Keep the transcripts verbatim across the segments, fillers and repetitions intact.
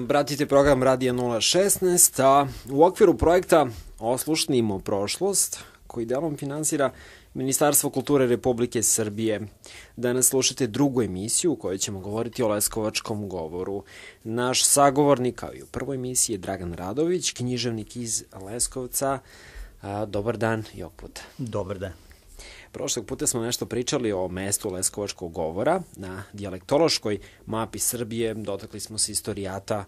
Pratite program Radija nula šesnaest, a u okviru projekta Oslušnimo prošlost, koji delom finansira Ministarstvo kulture Republike Srbije. Danas slušate drugu emisiju u kojoj ćemo govoriti o leskovačkom govoru. Naš sagovornik, kao i u prvoj emisiji, je Dragan Radović, književnik iz Leskovca. Dobar dan i ovog puta. Dobar dan. Prošlog puta smo nešto pričali o mestu leskovačkog govora na dijalektološkoj mapi Srbije. Dotakli smo se istorijata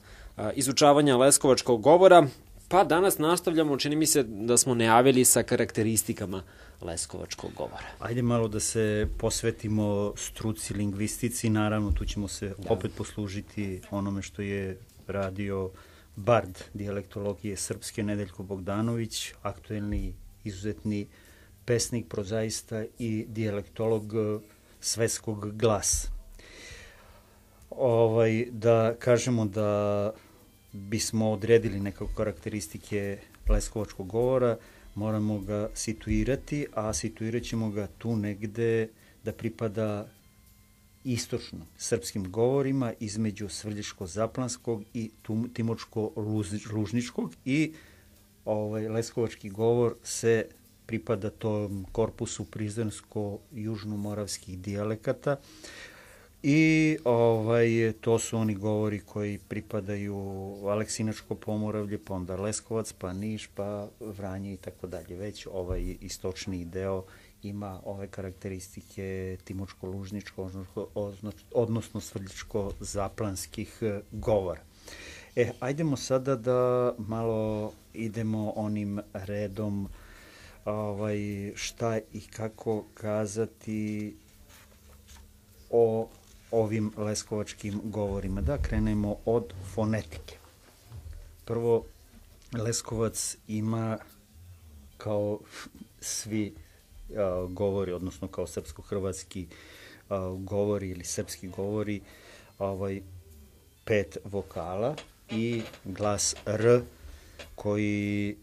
izučavanja leskovačkog govora, pa danas nastavljamo, čini mi se da smo najavili sa karakteristikama leskovačkog govora. Ajde malo da se posvetimo struci, lingvistici, naravno tu ćemo se da. opet poslužiti onome što je radio bard dijalektologije srpske Nedeljko Bogdanović, aktuelni, izuzetni pesnik, prozaista i dijalektolog svetskog glasa. Ovaj, da kažemo da bismo odredili neke karakteristike leskovačkog govora, moramo ga situirati, a situirat ćemo ga tu negde da pripada istočno srpskim govorima između Svrljiško-Zaplanskog i Timočko-Lužničkog i ovaj, leskovački govor se pripada tom korpusu prizrensko-južnomoravskih dijalekata i ovaj, to su oni govori koji pripadaju Aleksinačko pomoravlje, pa onda Leskovac, pa Niš, pa Vranje i tako dalje. Već ovaj istočni deo ima ove karakteristike Timočko-Lužničko, odnosno Svrljiško-Zaplanskih govora. E, ajdemo sada da malo idemo onim redom ovaj, šta i kako kazati o ovim leskovačkim govorima. Da krenemo od fonetike. Prvo, Leskovac ima kao svi a, govori, odnosno kao srpsko-hrvatski a, govori ili srpski govori, ovaj, pet vokala i glas R koji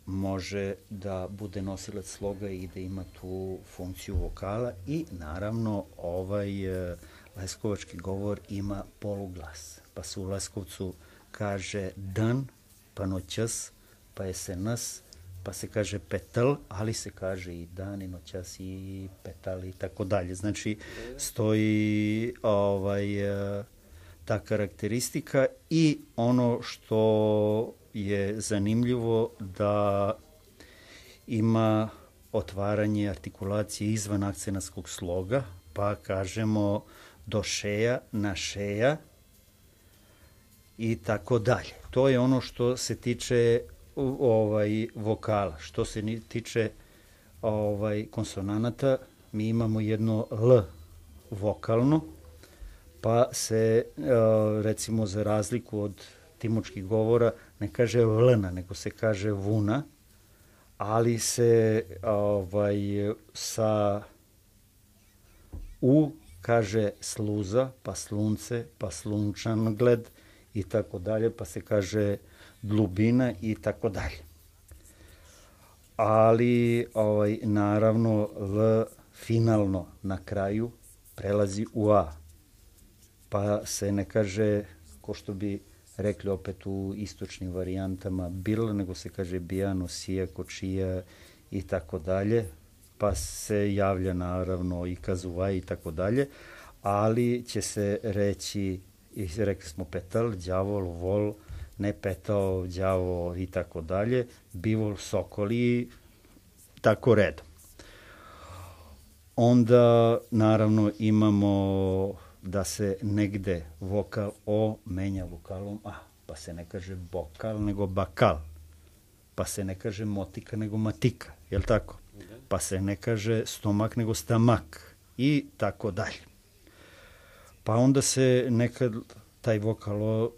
može da bude nosilac sloga i da ima tu funkciju vokala i naravno ovaj e, leskovački govor ima poluglas. Pa se u Leskovcu kaže dan, pa noćas, pa je se nas, pa se kaže petl, ali se kaže i dan i noćas i petal i tako dalje. Znači stoji ovaj, e, ta karakteristika i ono što je zanimljivo da ima otvaranje artikulacije izvan akcenatskog sloga, pa kažemo do šeja, na šeja i tako dalje. To je ono što se tiče ovaj, vokala. Što se tiče ovaj, konsonanata, mi imamo jedno L vokalno, pa se recimo za razliku od timočkih govora ne kaže vlna, nego se kaže vuna, ali se ovaj, sa u kaže sluza, pa slunce, pa slunčangled i tako dalje, pa se kaže dlubina i tako dalje. Ali ovaj, naravno L finalno na kraju prelazi u A, pa se ne kaže, ko što bi rekli opet u istočnim varijantama bil, nego se kaže bijano, sija, kočija i tako dalje, pa se javlja naravno i kazuvaj i tako dalje, ali će se reći, rekli smo petal, đavol, vol, ne petao, đavo i tako dalje, bivol, sokoli, tako redom. Onda naravno imamo da se negde vokal O menja vokalom A, pa se ne kaže bokal nego bakal, pa se ne kaže motika nego matika, jel tako? Pa se ne kaže stomak nego stamak i tako dalje. Pa onda se nekad taj vokal O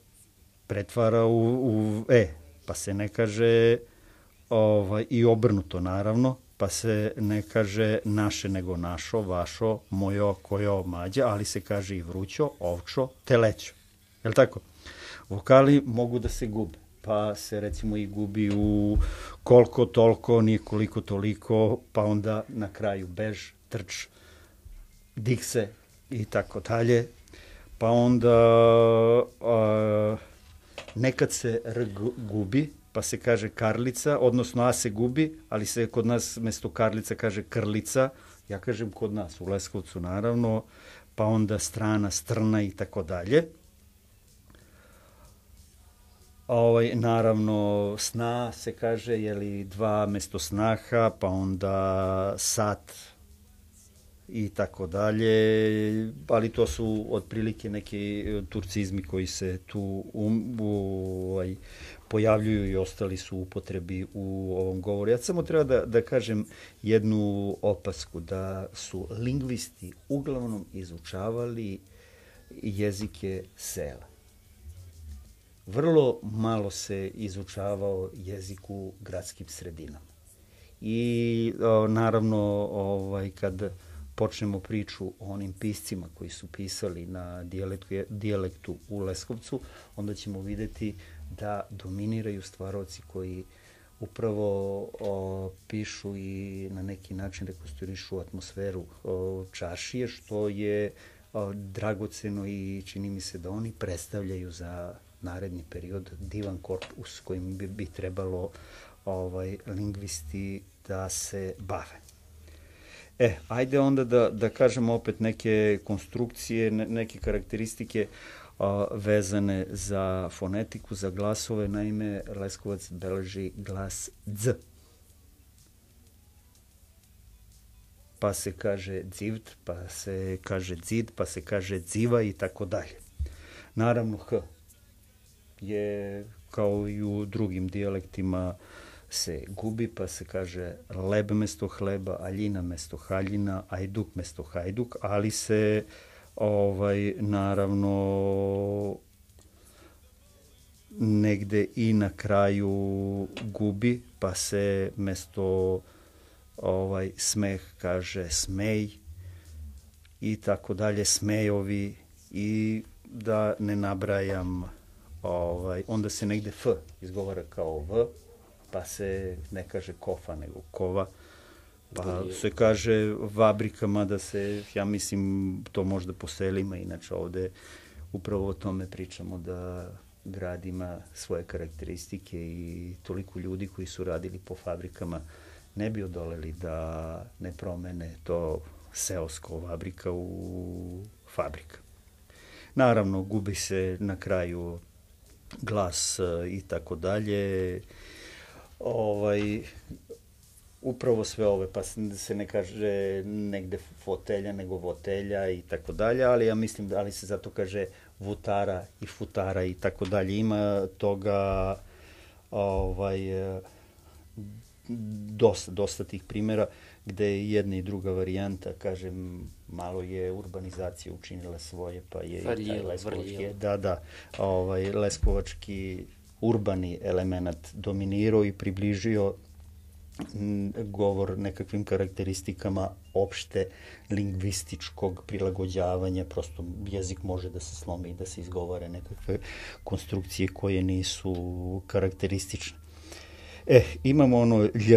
pretvara u, u E, pa se ne kaže ovaj, i obrnuto naravno, pa se ne kaže naše nego našo, vašo, mojo, kojo, mađe, ali se kaže i vrućo, ovčo, telećo. Je li tako? Vokali mogu da se gube, pa se recimo i gubi u koliko, toliko, nije koliko, toliko, pa onda na kraju bež, trč, dikse i tako dalje. Pa onda a, nekad se R gubi, pa se kaže Karlica, odnosno A se gubi, ali se kod nas mesto Karlica kaže Krlica, ja kažem kod nas, u Leskovcu naravno, pa onda strana, strna i tako dalje. Ovaj, naravno, sna se kaže, jeli, dva mesto snaha, pa onda sat i tako dalje, ali to su otprilike neki turcizmi koji se tu um, ovaj, pojavljuju i ostali su u upotrebi u ovom govoru. Ja samo treba da, da kažem jednu opasku, da su lingvisti uglavnom izučavali jezike sela. Vrlo malo se izučavao jezik u gradskim sredinama. I o, naravno, ovaj, kad počnemo priču o onim piscima koji su pisali na dijalektu, dijalektu u Leskovcu, onda ćemo videti da dominiraju stvaroci koji upravo o, pišu i na neki način rekonstruišu atmosferu o, čaršije, što je o, dragoceno i čini mi se da oni predstavljaju za naredni period divan korpus kojim bi, bi trebalo ovaj, lingvisti da se bave. E, ajde onda da, da kažemo opet neke konstrukcije, ne, neke karakteristike a, vezane za fonetiku, za glasove. Naime, Leskovac beleži glas dz. Pa se kaže dzivt, pa se kaže dzid, pa se kaže dziva i tako dalje. Naravno, h je kao i u drugim dijalektima se gubi, pa se kaže leb mesto hleba, aljina mesto haljina, ajduk mesto hajduk, ali se ovaj, naravno negde i na kraju gubi, pa se mesto ovaj, smeh kaže smej i tako dalje, smejovi i da ne nabrajam. Ovaj, onda se negde f izgovara kao v, pa se ne kaže kofa nego kova, pa se kaže vabrika, mada se, ja mislim, to možda po selima, inače ovde upravo o tome pričamo, da grad ima svoje karakteristike i toliko ljudi koji su radili po fabrikama ne bi odoleli da ne promene to seosko vabrika u fabrika. Naravno, gubi se na kraju glas i tako dalje. Ovaj, upravo sve ove, pa se ne kaže negde fotelja, nego votelja i tako dalje, ali ja mislim da ali se zato kaže vutara i futara i tako dalje. Ima toga ovaj, dosta, dosta tih primjera gde je jedna i druga varijanta, kažem, malo je urbanizacija učinila svoje, pa je Varjel, i taj leskovački, varjel. da, da, ovaj, leskovački urbani element dominirao i približio govor nekakvim karakteristikama opšte lingvističkog prilagođavanja, prosto jezik može da se slomi i da se izgovore nekakve konstrukcije koje nisu karakteristične. E, imamo ono lj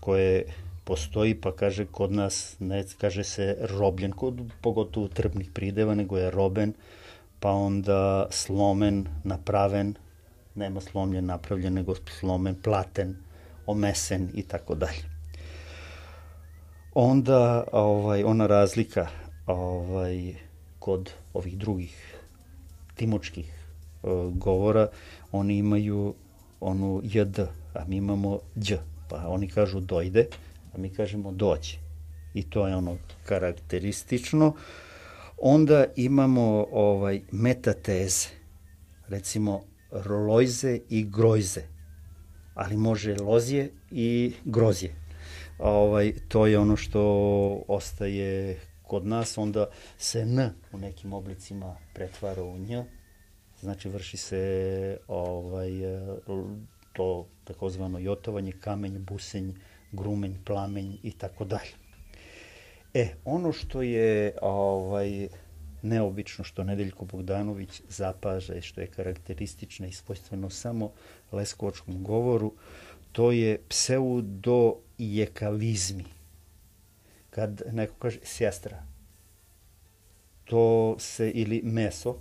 koje postoji, pa kaže kod nas, ne kaže se robljen, kod, pogotovo trbnih prideva, nego je roben, pa onda slomen, napraven, nema slomljen, napravljen, nego slomen, platen, omesen i tako dalje. Onda ovaj, ona razlika ovaj, kod ovih drugih timočkih uh, govora, oni imaju onu jd, a mi imamo đ, pa oni kažu dojde, a mi kažemo dođe. I to je ono karakteristično. Onda imamo ovaj, metateze, recimo lojze i grojze, ali može lozje i grozje. Ovaj, to je ono što ostaje kod nas, onda se n u nekim oblicima pretvara u nj, znači vrši se ovaj, to takozvano jotovanje, kamenj, busenj, grumenj, plamenj i tako dalje. E, ono što je ovaj, neobično, što Nedeljko Bogdanović zapaža i što je karakteristično i svojstveno samo leskovačkom govoru, to je pseudojekavizmi. Kad neko kaže sjastra, to se, ili meso,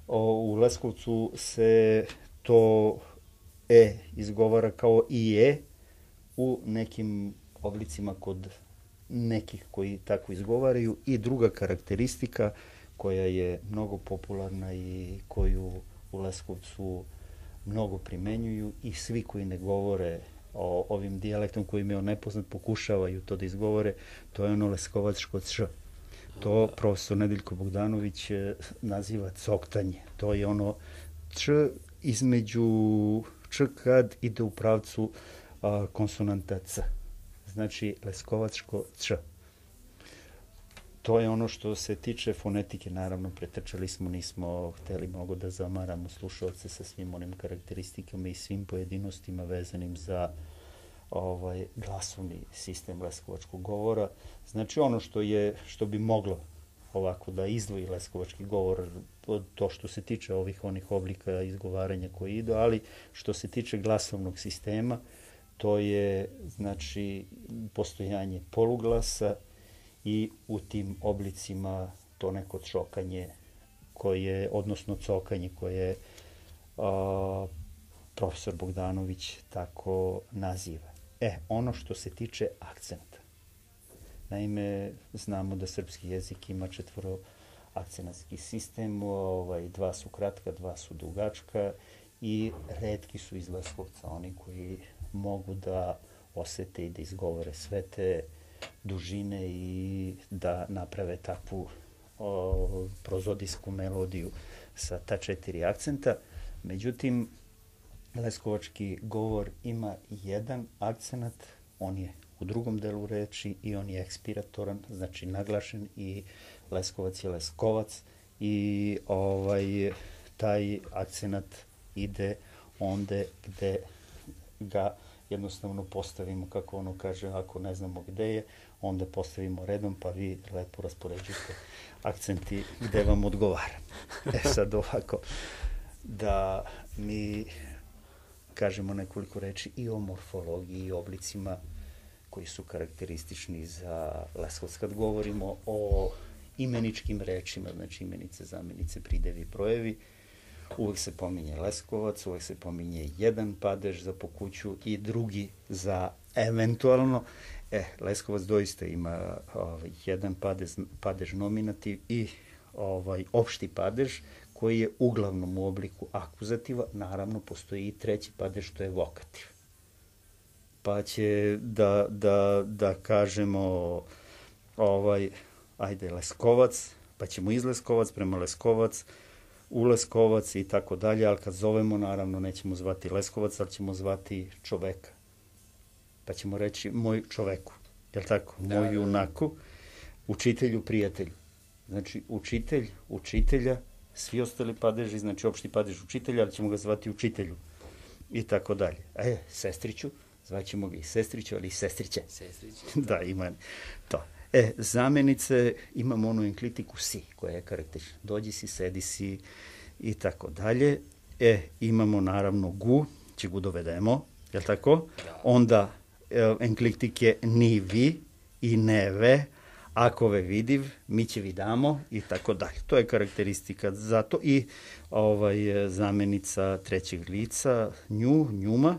o, u Leskovcu se to E izgovara kao i E u nekim oblicima kod nekih koji tako izgovaraju. I druga karakteristika koja je mnogo popularna i koju u Leskovcu mnogo primenjuju i svi koji ne govore o ovim dijalektom koji im je nepoznat pokušavaju to da izgovore, to je ono leskovačko č. To profesor Nedeljko Bogdanović naziva coktanje. To je ono č između č kad ide u pravcu a, konsonanta c. Znači leskovačko č. To je ono što se tiče fonetike, naravno pretrčali smo, nismo hteli mnogo da zamaramo slušalce sa svim onim karakteristikama i svim pojedinostima vezanim za ovaj glasovni sistem leskovačkog govora. Znači ono što je, što bi moglo ovako da izdvoji leskovački govor, to što se tiče ovih onih oblika izgovaranja koji idu, ali što se tiče glasovnog sistema, to je znači postojanje poluglasa i u tim oblicima to neko čokanje koje, odnosno cokanje koje a, profesor Bogdanović tako naziva. E, ono što se tiče akcenta. Naime, znamo da srpski jezik ima četvoro akcenatski sistem, ovaj, dva su kratka, dva su dugačka i retki su iz Leskovca oni koji mogu da osete i da izgovore sve te dužine i da naprave takvu o, prozodijsku melodiju sa ta četiri akcenta. Međutim, leskovački govor ima jedan akcenat, on je u drugom delu reči i on je ekspiratoran, znači naglašen, i Leskovac je Leskovac i ovaj taj akcenat ide onde gde ga jednostavno postavimo, kako ono kaže, ako ne znamo gde je, onda postavimo redom, pa vi lepo raspoređujete akcenti gde vam odgovara. E sad ovako, da mi kažemo nekoliko reči i o morfologiji i oblicima koji su karakteristični za Leskovac. Kad govorimo o imeničkim rečima, znači imenice, zamenice, pridevi, brojevi, uvek se pominje Leskovac, uvek se pominje jedan padež za po kuću i drugi za eventualno. E, Leskovac doista ima ovaj, jedan padež, padež nominativ i ovaj, opšti padež koji je uglavnom u obliku akuzativa. Naravno, postoji i treći padež, što je vokativ. Pa će da, da, da kažemo ovaj, ajde Leskovac, pa ćemo iz Leskovac prema Leskovac, u Leskovac i tako dalje, ali kad zovemo, naravno, nećemo zvati Leskovac, ali ćemo zvati čoveka. Pa ćemo reći moj čoveku, je li tako? Da, moj junaku, učitelju, prijatelju. Znači, učitelj, učitelja, svi ostali padeži, znači opšti padež učitelja, ali ćemo ga zvati učitelju i tako dalje. E, sestriću, zvaćemo ga i sestriću, ali i sestriće. Sestriće. Da, ima to. E, zamenice, imamo onu enklitiku si, koja je karakteristična. Dođi si, sedi si i tako dalje. E, imamo naravno gu, će gu dovedemo, je li tako? Da. Onda e, enklitike ni vi i ne ve, ako ve vidiv, mi će vidamo i tako dalje. To je karakteristika za to. I ovaj, zamenica trećeg lica, nju, njuma,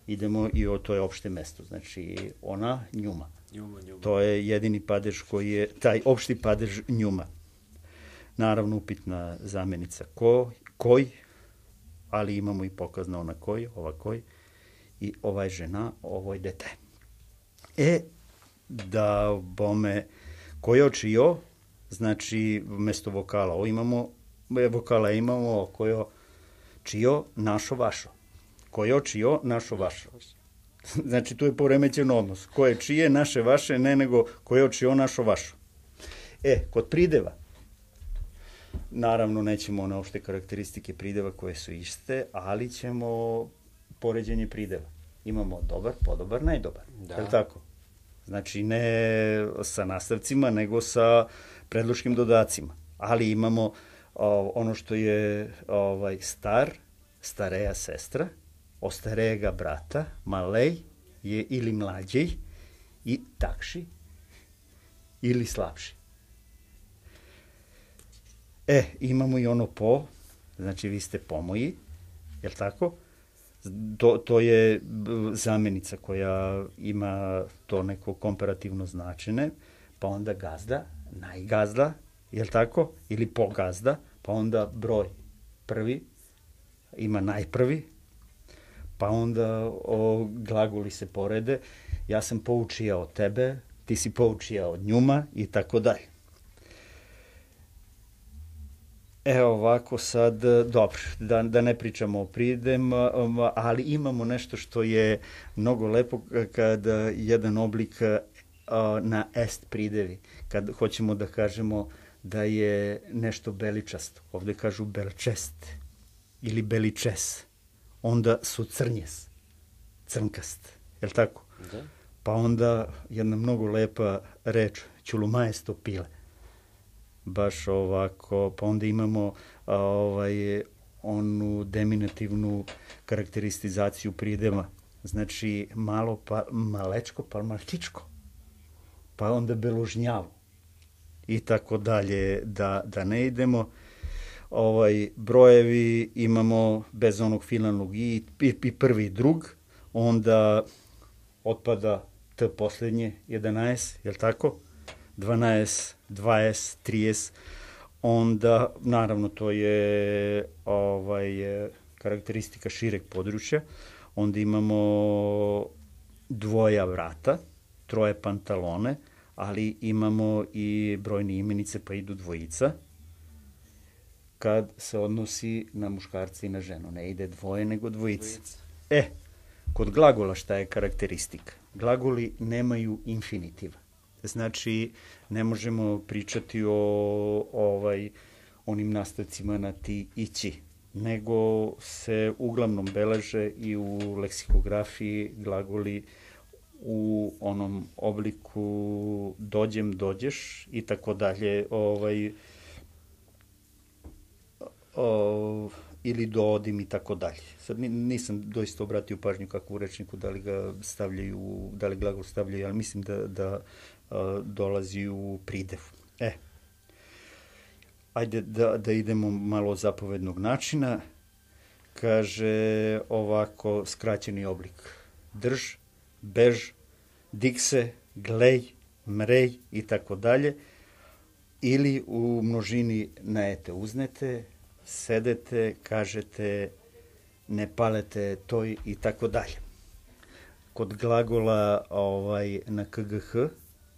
idemo i o, to je opšte mesto, znači ona, njuma. Njuma, njuma. To je jedini padež koji je, taj opšti padež njuma. Naravno, upitna zamenica ko, koj, ali imamo i pokazna ona koj, ova koj, i ovaj žena, ovoj dete. E, da bome kojo čio, znači mesto vokala o imamo, vokala imamo kojo čio, našo, vašo. Kojo čio, našo, vašo. Znači, tu je poremećen odnos. Koje čije, naše, vaše, ne nego koje čio, našo, vašo. E, kod prideva, naravno, nećemo one opšte karakteristike prideva koje su iste, ali ćemo poređenje prideva. Imamo dobar, podobar, najdobar. Da. Je li tako? Znači, ne sa nastavcima, nego sa predloškim dodacima. Ali imamo o, ono što je ovaj, star, stareja sestra, ostarejega brata, malej je ili mlađej i takši ili slabši. E, imamo i ono po, znači vi ste pomoji, je li tako? To, to je zamenica koja ima to neko komparativno značenje, pa onda gazda, najgazda, je li tako? Ili pogazda, pa onda broj prvi, ima najprvi, pa onda o, glagoli se porede, ja sam poučija od tebe, ti si poučija od njuma i tako dalje. Evo ovako sad, dobro, da, da ne pričamo o pridem, ali imamo nešto što je mnogo lepo kad jedan oblik na est pridevi, kad hoćemo da kažemo da je nešto beličasto. Ovde kažu belčest ili beličes. Onda su crnjes, crnkast, je li tako? Da. Pa onda jedna mnogo lepa reč, ćulumajesto pile. Baš ovako, pa onda imamo a, ovaj, onu deminativnu karakteristizaciju prideva. Znači malo pa, malečko pa malčičko. Pa onda belužnjavo. I tako dalje, da, da ne idemo. Ovaj, brojevi imamo bez onog finalnog i, i, i prvi i drug, onda otpada t posljednje, jedanaest, je li tako? dvanaest, dvadeset, trideset, onda, naravno, to je ovaj, karakteristika šireg područja, onda imamo dvoja vrata, troje pantalone, ali imamo i brojne imenice, pa idu dvojica, kad se odnosi na muškarca i na ženu. Ne ide dvoje, nego dvojica. dvojica. E, kod glagola šta je karakteristika? Glagoli nemaju infinitiva. Znači, ne možemo pričati o ovaj, onim nastavcima na ti i ći, nego se uglavnom beleže i u leksikografiji glagoli u onom obliku dođem, dođeš i tako dalje, ovaj, o, ili doodim i tako dalje. Sad nisam doista obratio pažnju kako u rečniku da li ga stavljaju, da li glagol stavljaju, ali mislim da, da a, dolazi u pridev. E, ajde da, da idemo malo zapovednog načina. Kaže ovako skraćeni oblik. Drž, bež, dikse, glej, mrej i tako dalje. Ili u množini naete, uznete, sedete, kažete, ne palete toj i tako dalje. Kod glagola ovaj, na k g h,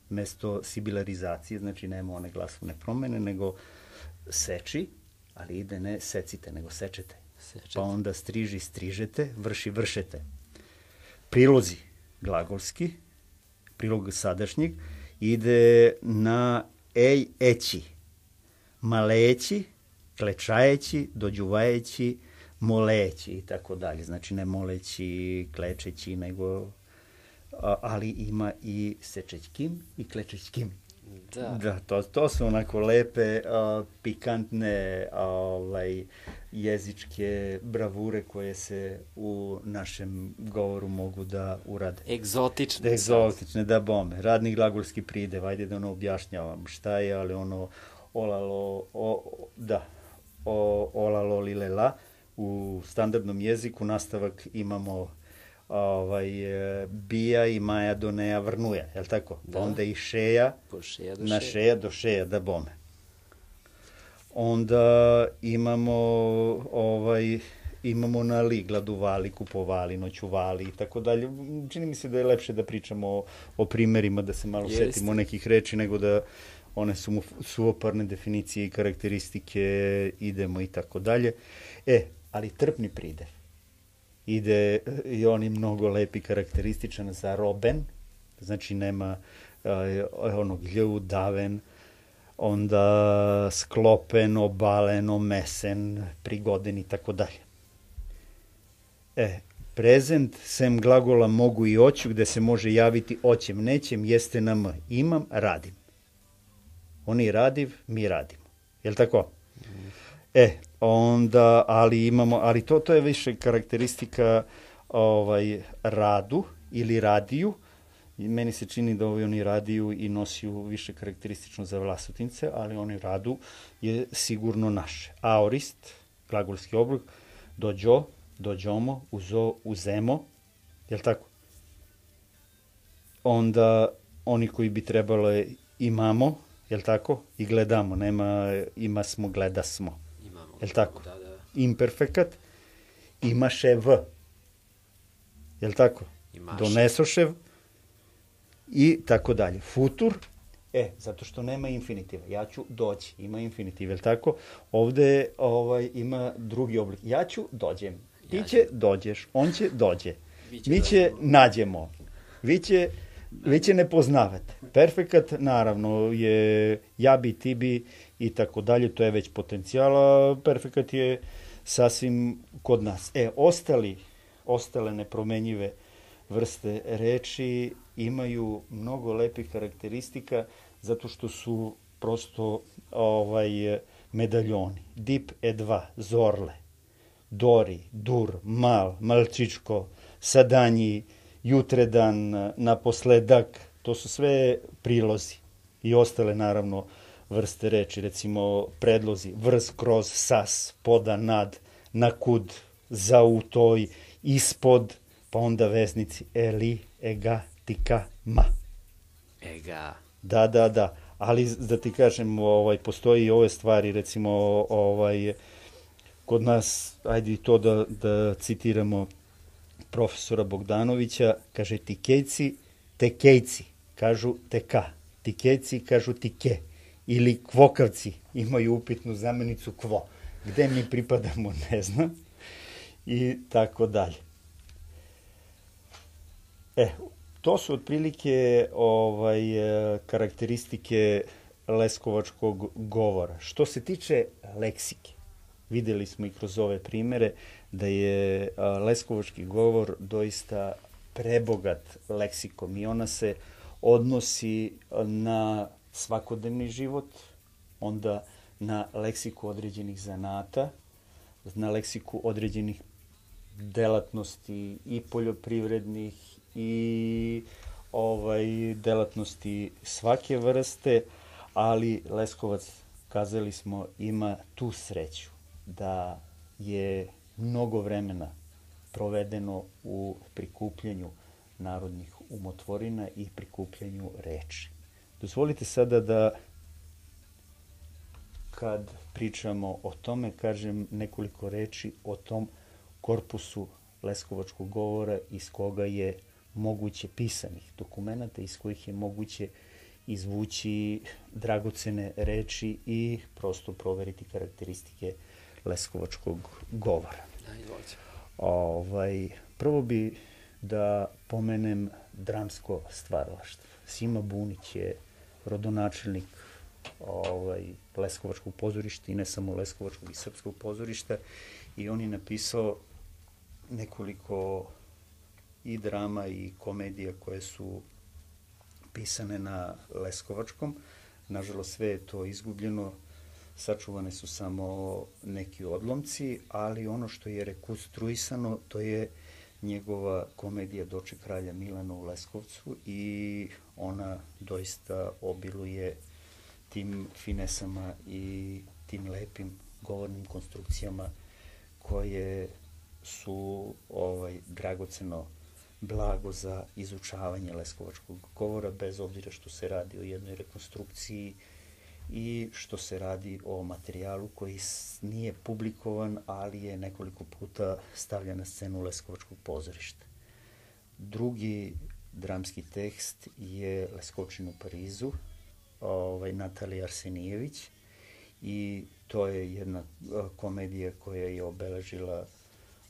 mesto sibilarizacije, znači nema one glasovne promene, nego seči, ali ide ne secite, nego sečete. Sečete. Pa onda striži, strižete, vrši, vršete. Prilozi glagolski, prilog sadašnjeg, ide na ej, eći, maleći, klečajeći, dođuvajeći, moleći i tako dalje. Znači ne moleći, klečeći, nego, ali ima i sečećkim i klečećkim. Da, da to, to su onako lepe, a, pikantne a, ovaj, jezičke bravure koje se u našem govoru mogu da urade. Egzotične. Egzotične, da bome. Radni glagolski pridev, ajde da ono objašnjavam šta je, ali ono olalo, o, da, o, olalo lilela. U standardnom jeziku nastavak imamo ovaj, bija i maja do neja vrnuja, je li tako? Da. Onda i šeja, šeja na šeja. šeja do šeja, da bome. Onda imamo ovaj, imamo na li, gladuvali, kupovali, noćuvali i tako dalje. Čini mi se da je lepše da pričamo o, o primerima, da se malo Jeste. setimo nekih reči, nego da one su mu suvoparne definicije i karakteristike, idemo i tako dalje. E, ali trpni pridev ide i on je mnogo lepi, karakterističan za roben, znači nema uh, onog lju, daven, onda sklopen, obalen, omesen, prigoden i tako dalje. E, prezent, sem glagola mogu i oću, gde se može javiti oćem, nećem, jeste na m. Imam, radim. Oni radiv, mi radimo. Je li tako? Mm. E, onda, ali imamo, ali to, to je više karakteristika ovaj, radu ili radiju. I meni se čini da ovi oni radiju i nosiju više karakteristično za Vlasotince, ali oni radu je sigurno naše. Aorist, glagolski oblik, dođo, dođomo, uzo, uzemo, jel tako? Onda oni koji bi trebalo imamo, jel tako? I gledamo, nema ima smo, gleda smo. Imamo. Jel tako? Da, da. Imperfekat, imaše v. Jel tako? Imaše. Donesošev i tako dalje. Futur, e, zato što nema infinitiva. Ja ću doći, ima infinitiv, jel tako? Ovde ovaj, ima drugi oblik. Ja ću, dođem. Ti Ja će, dođeš. On će, dođe. Biće Mi će, nađemo. Vi će, vi će ne poznavate. Perfekat, naravno, je ja bi, ti bi i tako dalje. To je već potencijala. Perfekat je sasvim kod nas. E, ostali, ostale nepromenjive vrste reči imaju mnogo lepih karakteristika zato što su prosto ovaj medaljoni. Dip e dva, zorle, dori, dur, mal, malčičko, sadanji, jutredan, naposledak, to su sve prilozi i ostale naravno vrste reči, recimo predlozi, vrs, kroz, sas, poda, nad, nakud, za, u, toj, ispod, pa onda veznici eli, ega, tika, ma. Ega. Da, da, da. Ali da ti kažem, ovaj, postoji i ove stvari, recimo, ovaj, kod nas, ajde i to da, da citiramo profesora Bogdanovića, kaže tikejci, tekejci, kažu teka. Tikejci kažu tike. Ili kvokavci imaju upitnu zamenicu kvo. Gde mi pripadamo, ne znam. I tako dalje. E, to su otprilike ovaj, karakteristike leskovačkog govora. Što se tiče leksike, videli smo i kroz ove primere da je leskovački govor doista prebogat leksikom i ona se odnosi na svakodnevni život, onda na leksiku određenih zanata, na leksiku određenih delatnosti i poljoprivrednih i ovaj delatnosti svake vrste, ali Leskovac, kazali smo, ima tu sreću da je mnogo vremena provedeno u prikupljanju narodnih umotvorina i prikupljanju reči. Dozvolite sada da, kad pričamo o tome, kažem nekoliko reči o tom korpusu leskovačkog govora iz koga je moguće pisanih dokumenta, iz kojih je moguće izvući dragocene reči i prosto proveriti karakteristike leskovačkog govora. Ovaj, prvo bi da pomenem dramsko stvaralaštvo. Sima Bunić je rodonačelnik ovaj, leskovačkog pozorišta i ne samo leskovačkog i srpskog pozorišta i on je napisao nekoliko i drama i komedija koje su pisane na leskovačkom. Nažalost, sve je to izgubljeno, sačuvane su samo neki odlomci, ali ono što je rekonstruisano, to je njegova komedija Doček kralja Milana u Leskovcu i ona doista obiluje tim finesama i tim lepim govornim konstrukcijama koje su ovaj, dragoceno blago za izučavanje leskovačkog govora, bez obzira što se radi o jednoj rekonstrukciji i što se radi o materijalu koji nije publikovan, ali je nekoliko puta stavljen na scenu leskovačkog pozorišta. Drugi dramski tekst je Leskovčin u Parizu, ovaj, Natalije Arsenijević, i to je jedna komedija koja je obeležila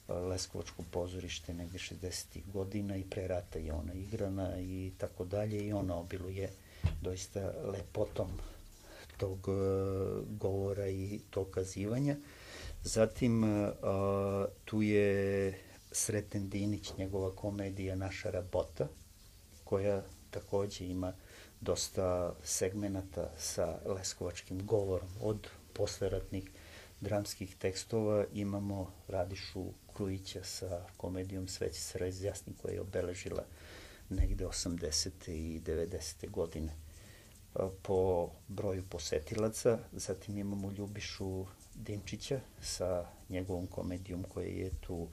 leskovačko pozorište negde šezdesetih godina i pre rata je ona igrana i tako dalje i ona obiluje doista lepotom tog govora i tog kazivanja. Zatim tu je Sreten Dinić, njegova komedija Naša rabota, koja takođe ima dosta segmenata sa leskovačkim govorom. Od posleratnih dramskih tekstova imamo Radišu Krujića sa komedijom Sve će se razjasni, koja je obeležila negde osamdesete i devedesete godine po broju posetilaca. Zatim imamo Ljubišu Dimčića sa njegovom komedijom koja je tu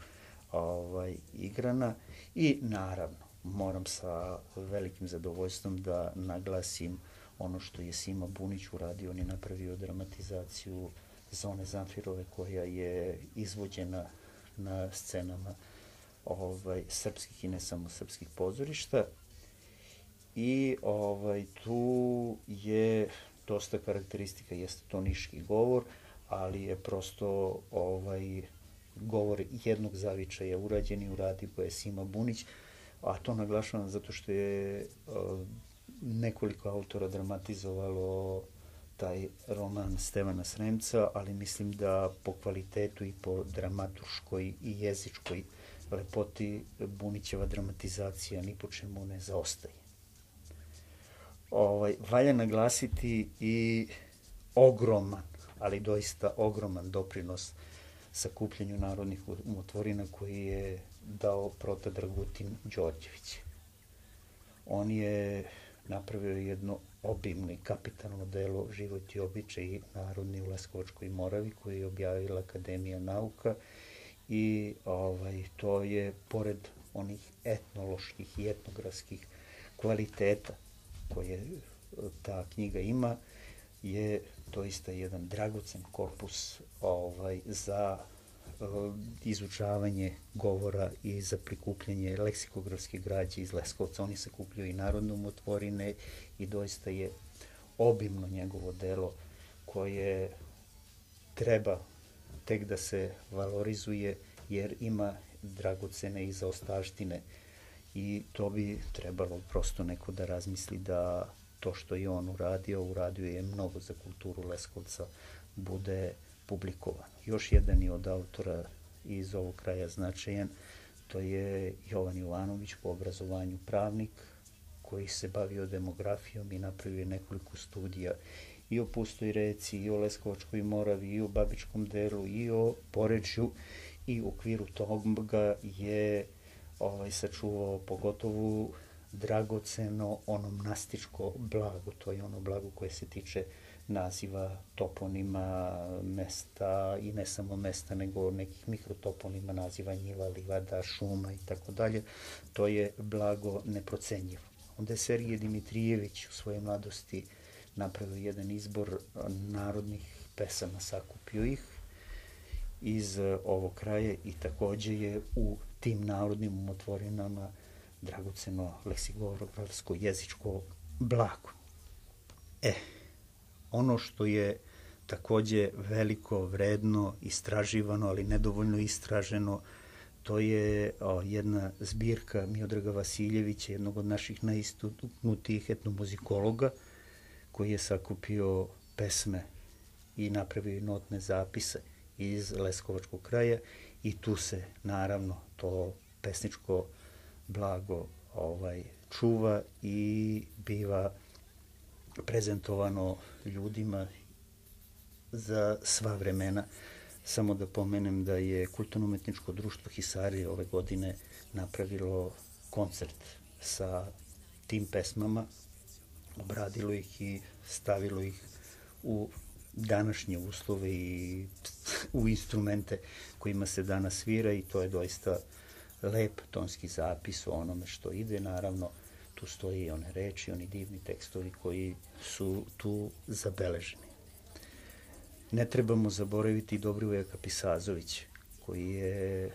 ovaj, igrana i naravno moram sa velikim zadovoljstvom da naglasim ono što je Sima Bunić uradio. On je napravio dramatizaciju Zone Zamfirove koja je izvođena na scenama ovaj, srpskih i ne samo srpskih pozorišta. I ovaj, tu je dosta karakteristika, jeste to niški govor, ali je prosto ovaj, govor jednog zavičaja urađen i uradio ga je Sima Bunić, a to naglašavam zato što je uh, nekoliko autora dramatizovalo taj roman Stevana Sremca, ali mislim da po kvalitetu i po dramaturškoj i jezičkoj lepoti Bunićeva dramatizacija ni po čemu ne zaostaje. Ovaj, valja naglasiti i ogroman, ali doista ogroman doprinos sakupljanju narodnih umotvorina koji je dao prota Dragutin Đorđević. On je napravio jedno obimno i kapitalno delo Život i običaji narodni u Leskovačkoj Moravi koji je objavila Akademija nauka i ovaj, to je pored onih etnoloških i etnografskih kvaliteta koje ta knjiga ima, je doista jedan dragocen korpus ovaj, za uh, izučavanje govora i za prikupljanje leksikografske građe iz Leskovca. Oni sakupljaju i narodne umotvorine i doista je obimno njegovo delo koje treba tek da se valorizuje jer ima dragocene i zaostavštine i to bi trebalo prosto neko da razmisli da to što je on uradio, uradio je mnogo za kulturu Leskovca, bude publikovan. Još jedan je od autora iz ovog kraja značajan, to je Jovan Jovanović, po obrazovanju pravnik, koji se bavio demografijom i napravio nekoliko studija i o Pustoj reci, i o Leskovačkoj Moravi, i o Babičkom delu, i o Porečju, i u okviru toga je ovaj, sačuvao pogotovo dragoceno onomnastičko blago, to je ono blago koje se tiče naziva toponima mesta i ne samo mesta, nego nekih mikrotoponima, naziva njiva, livada, šuma i tako dalje. To je blago neprocenjivo. Onda je Sergije Dimitrijević u svojoj mladosti napravio jedan izbor narodnih pesama, sakupio ih iz ovog kraja i takođe je u tim narodnim umotvorinama dragoceno leksikografsko jezičko blago. E, ono što je takođe veliko, vredno, istraživano, ali nedovoljno istraženo, to je o, jedna zbirka Miodraga Vasiljevića, jednog od naših najistaknutijih etnomuzikologa, koji je sakupio pesme i napravio notne zapise iz Leskovačkog kraja i tu se naravno to pesničko blago ovaj, čuva i biva prezentovano ljudima za sva vremena. Samo da pomenem da je Kulturno-umetničko društvo Hisarije ove godine napravilo koncert sa tim pesmama, obradilo ih i stavilo ih u današnje uslove i u instrumente kojima se danas svira i to je doista lep tonski zapis o onome što ide. Naravno, tu stoji i one reči, oni divni tekstovi koji su tu zabeleženi. Ne trebamo zaboraviti Dobrivoja Kapisazović, koji je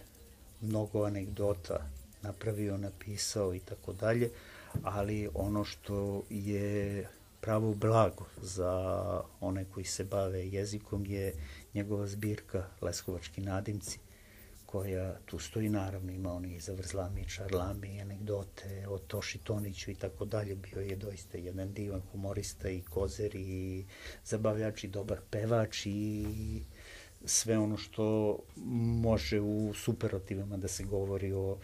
mnogo anegdota napravio, napisao i tako dalje, ali ono što je pravo blago za one koji se bave jezikom je njegova zbirka Leskovački nadimci, koja tu stoji, naravno ima oni zavrzlami, čarlami, anegdote o Toši Toniću i tako dalje. Bio je doista jedan divan humorista i kozer i zabavljač i dobar pevač i sve ono što može u superlativama da se govori o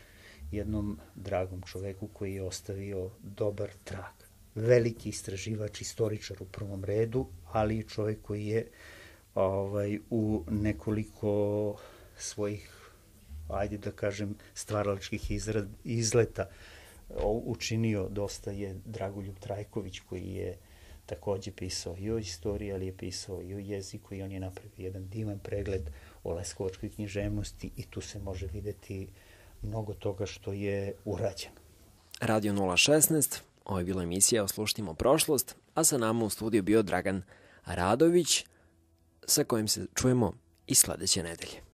jednom dragom čoveku koji je ostavio dobar trag. Veliki istraživač, istoričar u prvom redu, ali i čovek koji je ovaj, u nekoliko svojih, ajde da kažem, stvaralačkih izrad, izleta učinio dosta je Dragoljub Trajković, koji je takođe pisao i o istoriji, ali je pisao i o jeziku i on je napravio jedan divan pregled o leskovačkoj književnosti i tu se može videti mnogo toga što je urađeno. Radio nula šesnaest, ovo je bila emisija Oslušnimo prošlost, a sa nama u studiju bio Dragan Radović, sa kojim se čujemo i sledeće nedelje.